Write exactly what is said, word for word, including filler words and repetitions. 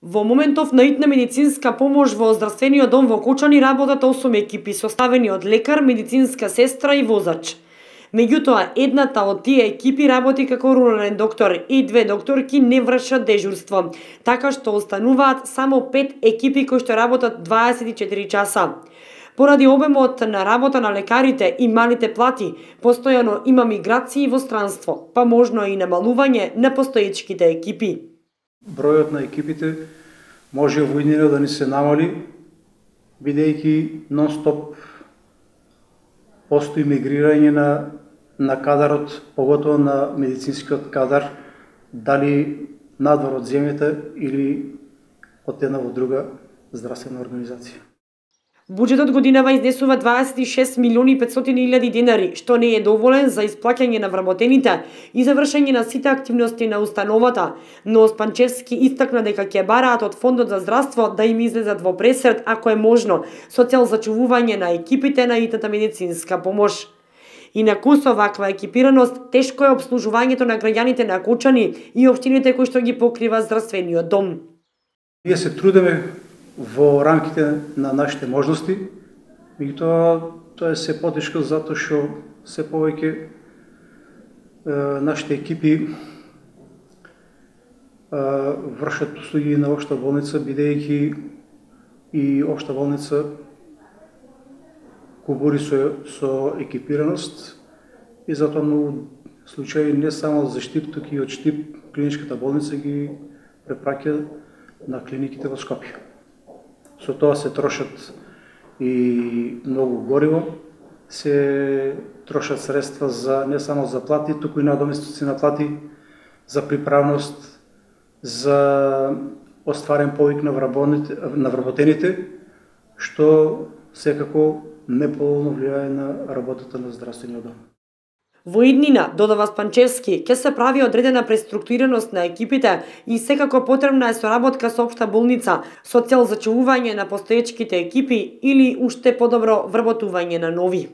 Во моментов на итна медицинска помош во здравствениот дом во Кочани работат осум екипи составени од лекар, медицинска сестра и возач. Меѓутоа, едната од тие екипи работи како рурален доктор и две докторки не вршат дежурство, така што остануваат само пет екипи кои што работат дваесет и четири часа. Поради обемот на работа на лекарите и малите плати, постојано има миграции во странство, па можно и намалување на постоечките екипи. Бројот на екипите може во иднина да ни се намали, бидејќи нон-стоп постои мигрирање на, на кадарот, поготово на медицинскиот кадар, дали надвор од земјата или од една во друга здравствена организација. Буџетот годинава изнесува дваесет и шест милиони и петстотини илјади денари, што не е доволен за исплаќање на вработените и завршење на сите активности на установата, но Спанчевски истакна дека ќе бараат од Фондот за здравство да им излезат во пресрет, ако е можно, со цел зачувување на екипите на итната медицинска помош. Инаку со ваква екипираност, тешко е обслужувањето на граѓаните на Кочани и општините кои што ги покрива здравствениот дом. Ние се трудиме во рамките на нашите можности, меѓутоа тоа е се потешко затоа што се повеќе е, нашите екипи е, вршат услуги на општа болница, бидејќи и општа болница кубури со, со екипираност и затоа многу случаи не само за Штип, туку и од Штип клиничката болница ги препраќа на клиниките во Скопје. Со тоа се трошат и многу гориво, се трошат средства за не само за плати, туку и надоместици на плати, за приправност, за остварен повик на вработените, што секако неповолно влијае на работата на здравствениот дом. Во иднина, додава Спанчевски, ќе се прави одредена преструктурираност на екипите и секако потребна е соработка со општа болница со цел зачувување на постоечките екипи или уште подобро вработување на нови.